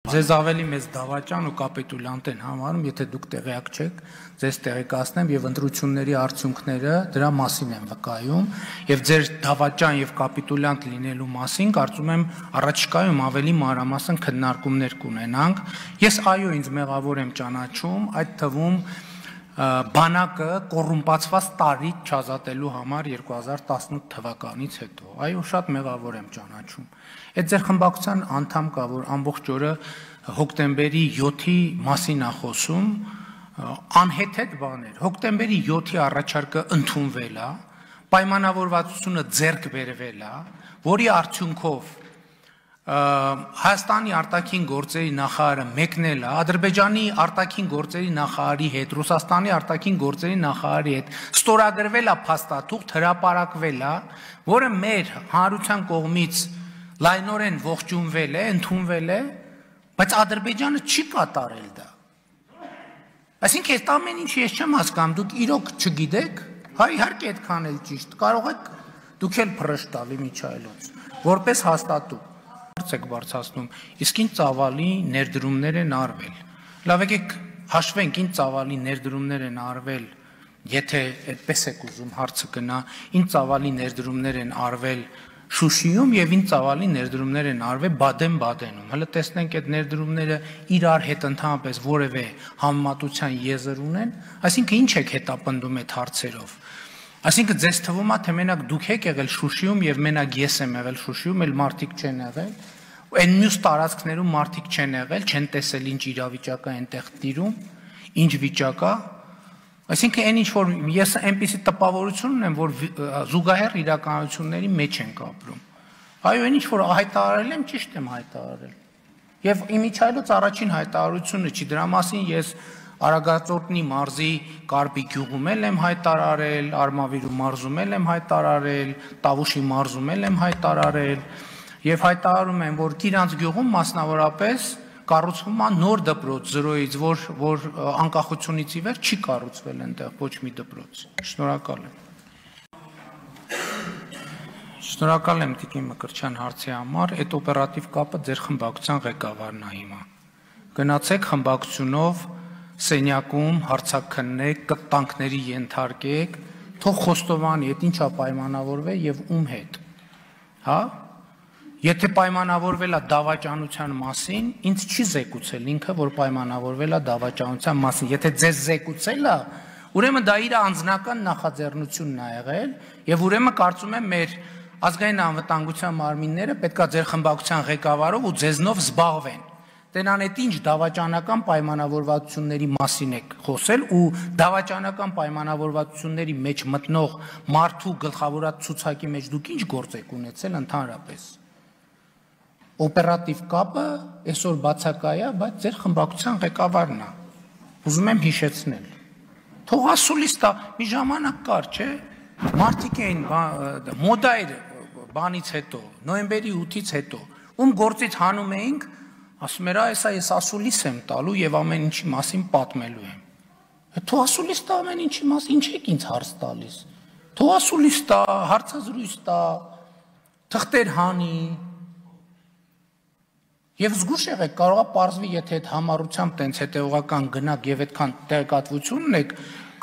Ձեզ ավելի մեծ դավաճան ու կապիտուլյանտ են համարում, եթե դուք տեղյակ չեք, ձեզ տեղեկացնեմ եւ ընտրությունների արդյունքները դրա մասին են վկայում եւ ձեր դավաճան եւ կապիտուլյանտ լինելու մասին կարծում եմ առաջիկայում ավելի մանրամասն քննարկումներ կունենանք։ Ես այո ինձ մեղավոր եմ ճանաչում, այդ թվում բանակը կոռումպացված տարի չազատելու համար 2018 թվականից հետո։ Այո, շատ մեղավոր եմ ճանաչում։ Այդ ձեր խմբակցության անդամ կա, որ ամբողջ օրը հոկտեմբերի 7-ի մասին է խոսում, անհեթեթ բաներ։ Հոկտեմբերի 7-ի առաջարկը ընդունվել է, պայմանավորվածությունը ձեռք բերվել է, որի արդյունքով Հայաստանի արտաքին գործերի նախարարը մեկնել է, Ադրբեջանի արտաքին գործերի նախարարի հետ, Ռուսաստանի արտաքին գործերի նախարարի հետ ստորագրվել է փաստաթուղթ, հրապարակվել է, որը մեր հանրության կողմից լայնորեն ողջունվել է, ընդունվել է, բայց Ադրբեջանը չի կատարել դա։ Այսինքն այս ամեն ինչը ես չեմ հասկանում, դուք իրոք չգիտեք, հա իհարկե այդքան էլ ճիշտ, կարող եք դուք էլ փռշտալ Միչայելոց, որպես հաստատում եք բարձրացնում, իսկ ինչ ծավալի ներդրումներ են արվել։ Լավ եկեք հաշվենք ինչ ծավալի ներդրումներ են արվել, եթե այդպես եք ուզում հարցը գնա, ինչ ծավալի ներդրումներ են արվել Շուշիում եւ ինչ ծավալի ներդրումներ են արվել Բադեն-Բադենում։ Հələ տեսնենք այդ ներդրումները իրար հետ ընդհանրապես որևէ համեմատության եզր ունեն, այսինքն ինչ եք հետապնդում այդ հարցերով։ Այսինքն ձեզ թվում է թե մենակ դուք եք եղել Շուշիում եւ մենակ ես եմ եղել Շուշիում, այլ մարդիկ չեն եղել։ Այն մյուս տարածքներում մարդիկ չեն եղել, չեն տեսել ինչ իրավիճակ է այնտեղ տիրում, ինչ վիճակ է։ Այսինքն այն ինչ որ ես այնպիսի տպավորություն ունեմ, որ զուգահեռ իրականությունների մեջ ենք ապրում։ Այո, այն ինչ որ հայտարարել եմ, ճիշտ եմ հայտարարել։ Եվ իմիջայլոց առաջին հայտարարությունը չի, դրա մասին ես Արագածոտնի մարզի Կարպի գյուղում եմ հայտարարել, Արմավիրու մարզում եմ հայտարարել, Տավուշի մարզում եմ հայտարարել եւ հայտարարում եմ, որ Կիրանց գյուղում մասնավորապես կառուցվում է նոր դպրոց 0-ից, որ անկախությունից ի վեր չի կառուցվել այնտեղ ոչ մի դպրոց։ Շնորհակալ եմ։ Շնորհակալ եմ Տիկին Մկրտչյան հարցի համար, այդ օպերատիվ կապը ձեր խմբակցության ղեկավարն է հիմա։ Գնացեք խմբակցությունով Սենյակում հարցաքննեք, կտանքների ենթարկեք, թող խոստովանի, այդ ինչա պայմանավորվել եւ ում հետ։ Հա? Եթե պայմանավորվել է դավաճանության մասին, ինձ չի զեկուցել ինքը, որ պայմանավորվել է դավաճանության մասին։ Եթե ձեզ զեկուցել է, ուրեմն դա իր անձնական նախաձեռնությունն է եղել եւ ուրեմն կարծում եմ մեր ազգային անվտանգության մարմինները պետքա ձեր խմբակցության ղեկավարով ու ձեզնով զբաղվեն։ Տենան այդ ինչ դավաճանական պայմանավորվածությունների մասին եք խոսել ու դավաճանական պայմանավորվածությունների մեջ մտնող մարդու գլխավորած ցուցակի մեջ դուք ինչ գործ եք ունեցել ընդհանրապես։ Օպերատիվ կապը այսօր բացակայ է, բայց ձեր խմբակցության ղեկավարն է։ Ուզում եմ հիշեցնել։ Թող ասուլիստ է, մի ժամանակ կար, չէ՞։ Մարդիկ էին մոդա էր բանից հետո, նոյեմբերի 8-ից հետո, ում գործից հանում էինք, ասում էր, այսա ես ասուլիս եմ տալու եւ ամեն ինչի մասին պատմելու եմ։ Թող ասուլիս տա ամեն ինչի մասին, ինչ եք ինձ հարց տալիս։ Թող ասուլիս տա, հարցազրույց տա, թղթեր հանի։ Եվ զգուշ եղեք, կարող է պարզվի, եթե այդ համառությամբ տենց հետևողական գնաք եւ այդքան տեղեկատվություն ունեք,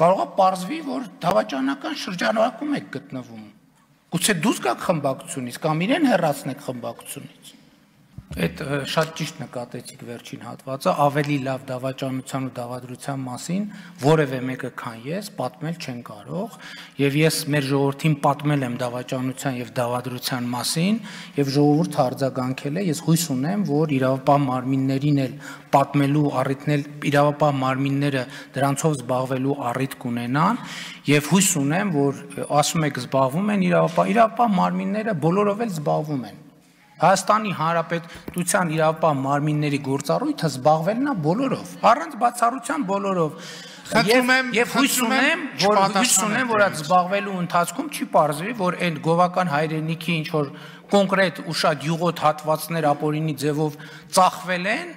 կարող է պարզվի, որ դավաճանական շրջանակում եք գտնվում։ Գուցե դուրս գաք խմբակցությունից կամ իրեն հեռացնեք խմբակցությունից։ Այդ շատ ճիշտ նկատեցիք վերջին հատվածը, ավելի լավ դավաճանության ու դավադրության մասին որևէ մեկը քան ես պատմել չեն կարող, եւ ես մեր ժողովրդին պատմել եմ դավաճանության եւ դավադրության մասին, եւ ժողովուրդը արձագանքել է, ես հույս ունեմ, որ իրավապահ մարմիններին էլ պատմելու առիթն էլ իրավապահ մարմինները դրանցով զբաղվելու առիթ կունենան, եւ հույս ունեմ, որ ասում եք զբաղվում են իրավապահ մարմինները բոլորով էլ զբաղվում են։ Հայաստանի Հանրապետության իրավապահ մարմինների գործառույթը զբաղվելն է բոլորով, առանց բացառության բոլորով։ Եվ հույս ունեմ, որ այդ զբաղվելու ընթացքում չի պարզվի, որ այն գովական հայրենիքի ինչ որ կոնկրետ ու շատ յուղոտ հատվածներ ապօրինի ձևով ծախվել են,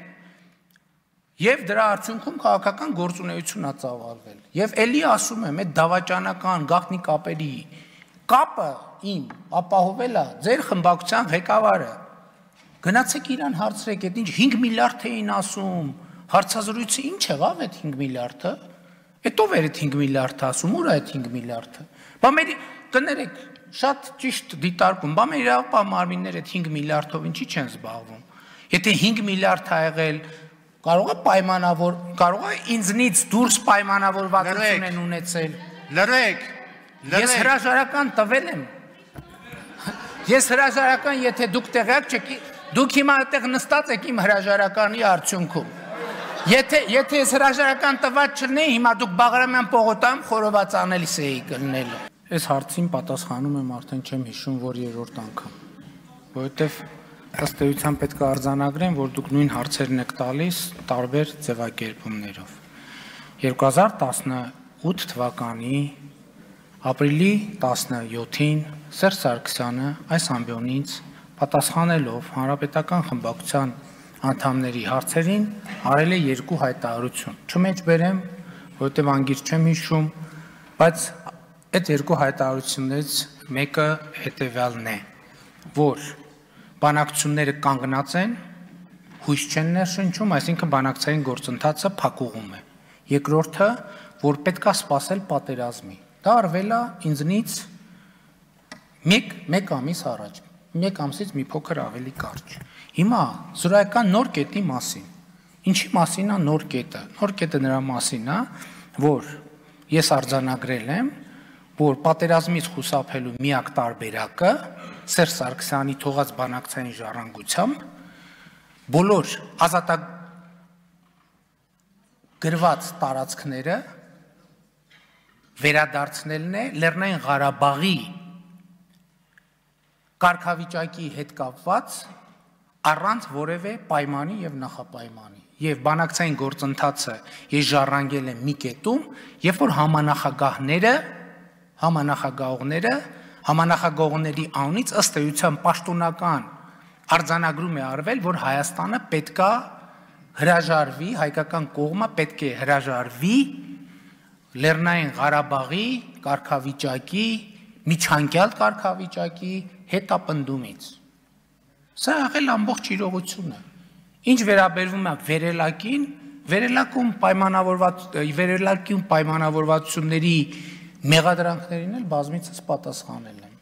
եւ դրա արդյունքում քաղաքական գործունեություն է ծավալվել։ Եվ ելի ասում եմ, այդ դավաճանական գաղտնի կապերի կապը իմ ապահովել է ձեր խմբակցության ղեկավարը։ Գնացեք իրան հարցրեք, այդ ինչ 5 միլիարդ էին ասում, հարցազրույցը ինչ եղավ այդ 5 միլիարդը, այդ ով էր այդ 5 միլիարդը ասում, ուր է այդ 5 միլիարդը, բա մեր կներեք, շատ ճիշտ դիտարկում, բա մեր իրավապահ մարմինները այդ 5 միլիարդով ինչի չեն զբաղվում, եթե 5 միլիարդ ա եղել, կարող է պայմանավոր, կարող է ինձնից դուրս պայմանավորվածություն են ունեցել, լրեք, ես հրաժարական տվել եմ, ես հրաժարական, եթե դուք տեղյակ չեք, դուք հիմա այդտեղ նստած եք իմ հրաժարականի արդյունքում, եթե ես հրաժարական տված չլինեի, հիմա դուք Բաղրամյան պողոտայում խորոված անելիս էի կլնելու։ Այս հարցին պատասխանում եմ արդեն չեմ հիշում, որ երրորդ անգամ, որովհետև ըստ էության պետք է արձանագրեմ, որ դուք նույն հարցերն եք տալիս տարբեր ձևակերպումներով։ 2018 թվականի ապրիլի 17-ին Սերժ Սարգսյանը այս ամբիոնից պատասխանելով Հանրապետական խմբակցության անդամների հարցերին արել է 2 հայտարարություն։ Չմեջբերեմ, որովհետև անգիր չեմ հիշում, բայց այդ 2 հայտարարություններից մեկը հետևյալն է, որ բանակցությունները կանգնած են, հույս չեն ներշնչում, այսինքն բանակցային գործընթացը փակուղում է։ Երկրորդը, որ պետք է սպասել պատերազմի։ Դա արվել է ինձնից մեկ ամիս առաջ, 1 ամսից մի փոքր ավելի կարճ։ Հիմա զրոյական նոր կետի մասին։ Ինչի մասին է նոր կետը։ Նոր կետը նրա մասին է, որ ես արձանագրել եմ, որ պատերազմից խուսափելու միակ տարբերակը Սերժ Սարգսյանի թողած բանակցային ժառանգությամբ բոլոր ազատագրված տարածքները վերադարձնելն է Լեռնային Ղարաբաղի կարգավիճակի հետ կապված առանց որևէ պայմանի եւ նախապայմանի եւ բանակցային գործընթացը ես ժառանգել եմ մի կետում, երբ որ համանախագահողների անունից ըստ էության պաշտոնական արձանագրում է արվել, որ Հայաստանը պետք է հրաժարվի, հայկական կողմը պետք է հրաժարվի Լեռնային Ղարաբաղի կարգավիճակի, միջանկյալ կարգավիճակի հետապնդումից։ Սա եղել ամբողջ իրողությունը։ Ինչ վերաբերվում է վերելակին, վերելակում պայմանավորվածությունների մեղադրանքներին էլ բազմիցս պատասխանել եմ։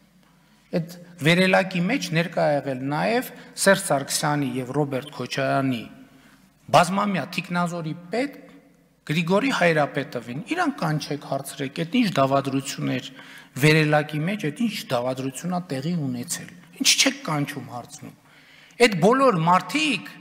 Այդ վերելակի մեջ ներկա եղել նաև Սերժ Սարգսյանի եւ Ռոբերտ Քոչարյանի բազմամյա թիկնազորի պետ Գրիգորի Հայրապետովին, իրան կանչեք հարցրեք, այդ ինչ դավադրություն էր վերելակի մեջ, այդ ինչ դավադրություն է տեղի ունեցել, ինչ չեք կանչում հարցնում։ Այդ բոլոր մարդիկ,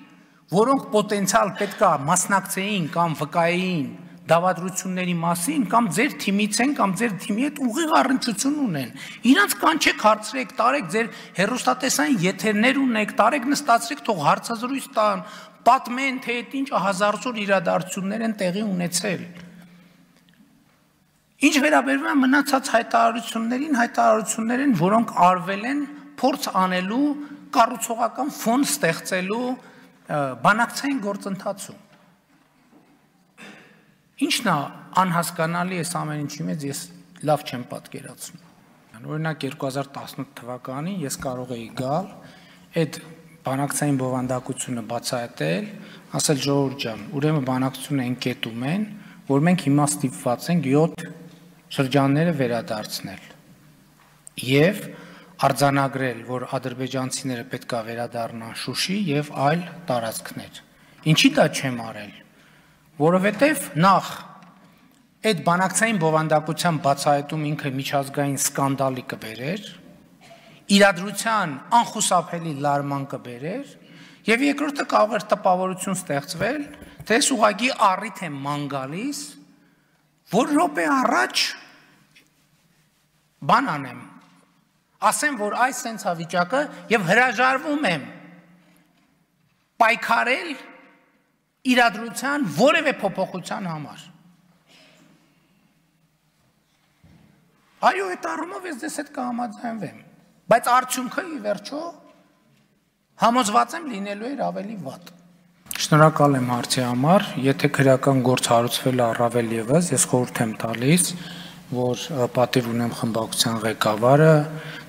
որոնք պոտենցիալ պետքա մասնակցեին կամ վկայեին դավադրությունների մասին, կամ ձեր թիմից են, կամ ձեր թիմի հետ ուղիղ առնչություն ունեն, իրանց կանչեք հարցրեք, տարեք ձեր հեռուստատեսային եթերներ ունեք, տարեք նստացրեք, թող հարցազրույց տան, պատմեն, թե այդ ինչ հազարսոր իրադարձություններ են տեղի ունեցել։ Ինչ վերաբերվում է մնացած հայտարարություններ են, որոնք արվել են փորձ անելու, կառուցողական ֆոն ստեղծելու բանակցային գործընթացում։ Ինչն է անհասկանալի այս ամեն ինչի մեջ ես լավ չեմ պատկերացնում։ Օրինակ 2018 թվականին ես կարող էի գալ այդ բանակցային բովանդակությունը բացահայտել, ասել ժողովուրդ ջան, ուրեմն բանակցությունը այն կետում են, որ մենք հիմա ստիպված ենք 7 շրջանները վերադարձնել եւ արձանագրել, որ ադրբեջանցիները պետք է վերադառնան Շուշի եւ այլ տարածքներ։ Ինչի դա չեմ արել, որովհետեւ նախ այդ բանակցային բովանդակության բացահայտում ինքը միջազգային սկանդալի կբերեր, իրադրության անխուսափելի լարման կբերեր եւ երկրորդը կարող էր տպավորություն ստեղծվել, թե ես ուղղակի առիթ եմ ման գալիս, որ րոպե առաջ բան անեմ, ասեմ, որ այս սենց հավիճակը եւ հրաժարվում եմ պայքարել իրադրության որևէ փոփոխության համար։ Այո, այդ առումով ես ձեզ հետ կհամաձայնվեմ, բայց արդյունքը ի վերջո համոզված եմ լինելու էր ավելի վատ։ Շնորհակալ եմ հարցի համար, եթե քրեական գործ հարուցվել է առավել եւս, ես խորհուրդ եմ տալիս որ պատիվ ունեմ խմբակցության ղեկավարը,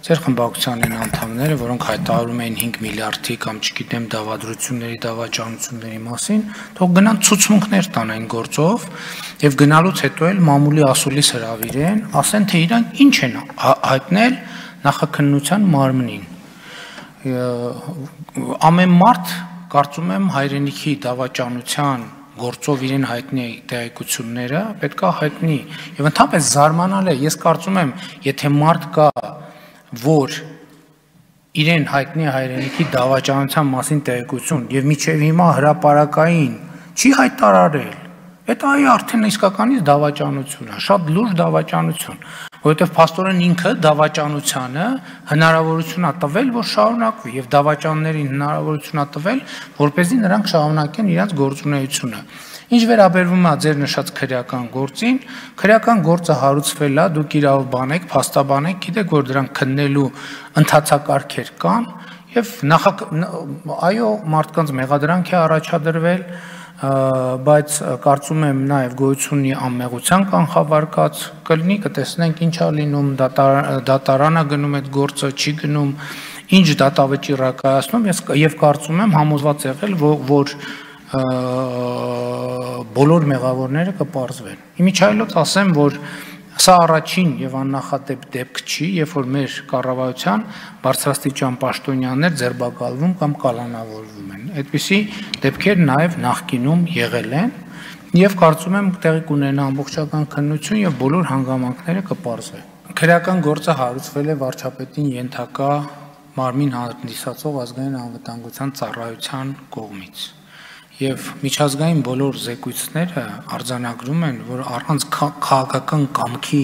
ձեր խմբակցության անդամները, որոնք հայտարարում էին 5 միլիարդի կամ չգիտեմ դավադրությունների, դավաճանությունների մասին, թող գնան ցուցմունքներ տան այն գործով եւ գնալուց հետո էլ մամուլի ասուլիս հրավիրեն, ասեն թե իրանք ինչ են հայտնել նախաքննության մարմնին։ Ամեն մարդ կարծում եմ հայրենիքի դավաճանության գործով իրեն հայտնի տեղեկությունները պետքա հայտնի եւ ընդհանրապես զարմանալ է, ես կարծում եմ, եթե մարդ կա, որ իրեն հայտնի հայրենիքի դավաճանության մասին տեղեկություն եւ միջև հիմա հրապարակային չի հայտարարել, այդ այ արդեն իսկականից դավաճանություն է, շատ լուրջ դավաճանություն, որովհետեւ փաստորեն ինքը դավաճանությանը հնարավորություն է տվել, որ շարունակվի եւ դավաճաններին հնարավորություն է տվել, որպեսզի նրանք շարունակեն իրենց գործունեությունը։ Ինչ վերաբերվում է ձեր նշած քրեական գործին, քրեական գործը հարուցվել է, դուք իրավաբան եք, փաստաբան եք, գիտեք, որ դրանք քննելու ընթացակարգեր կան եւ այո, մարդկանց մեղադրանք է առաջադրվել, բայց կարծում եմ նաև գոյություն ունի անմեղության կանխավարկած կլինի, կտեսնենք ինչ է լինում, դատարան է գնում այդ գործը, չի գնում, ինչ դատավճիռ է կայացնում, եւ կարծում եմ համոզված եղել, որ բոլոր մեղավորները կպարզվեն։ Իմիջայլոց ասեմ, որ սա առաջին եւ աննախադեպ դեպք չի, երբ որ մեր կառավարության բարձրաստիճան պաշտոնյաներ ձերբակալվում կամ կալանավորվում են։ Այդպիսի դեպքեր նաեւ նախկինում եղել են եւ կարծում եմ տեղի կունենա ամբողջական քննություն եւ բոլոր հանգամանքները կպարզվեն։ Քրեական գործը հարուցվել է վարչապետին ենթակա մարմին հանդիսացող ազգային անվտանգության ծառայության կողմից։ Եվ միջազգային բոլոր զեկույցները արձանագրում են, որ առանց քաղաքական կամքի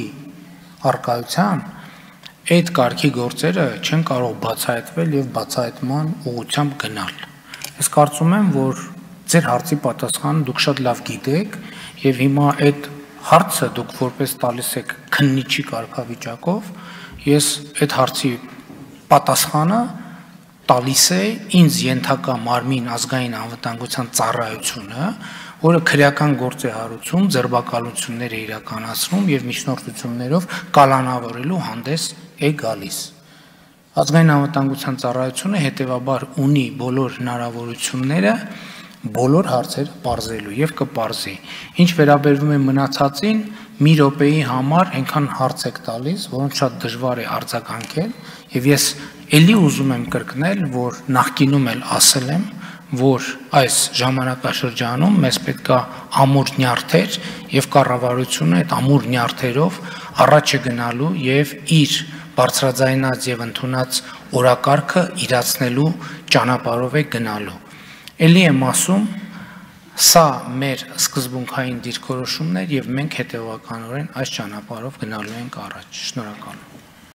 առկայության այդ կարգի գործերը չեն կարող բացահայտվել եւ բացահայտման ուղղությամբ գնալ։ Ես կարծում եմ, որ ձեր հարցի պատասխանը դուք շատ լավ գիտեք եւ հիմա այդ հարցը դուք որպես տալիս եք քննիչի կարգավիճակով, ես այդ հարցի պատասխանը տալիս է ինձ ենթակա մարմին ազգային անվտանգության ծառայությունը, որը քրեական գործ է հարուցում, ձերբակալություններ է իրականացնում եւ միջնորդություններով կալանավորելու հանդես է գալիս։ Ազգային անվտանգության ծառայությունը հետեւաբար ունի բոլոր հնարավորությունները բոլոր հարցերը պարզելու եւ կպարզի։ Ինչ վերաբերվում է մնացածին, մի րոպեի համար այնքան հարց եք տալիս, որոնց շատ դժվար է արձագանքել եւ ես Էլի ուզում եմ կրկնել, որ նախկինում էլ ասել եմ, որ այս ժամանակաշրջանում մեզ պետք է ամուր նյարդեր եւ կառավարությունը այդ ամուր նյարդերով առաջ է գնալու եւ իր բարձրաձայնած եւ ընդունած օրակարգը իրացնելու ճանապարհով է գնալու։ Էլի եմ ասում, սա մեր սկզբունքային դիրքորոշումն է եւ մենք հետեւականորեն այս ճանապարհով գնալու ենք առաջ։ Շնորհակալ եմ։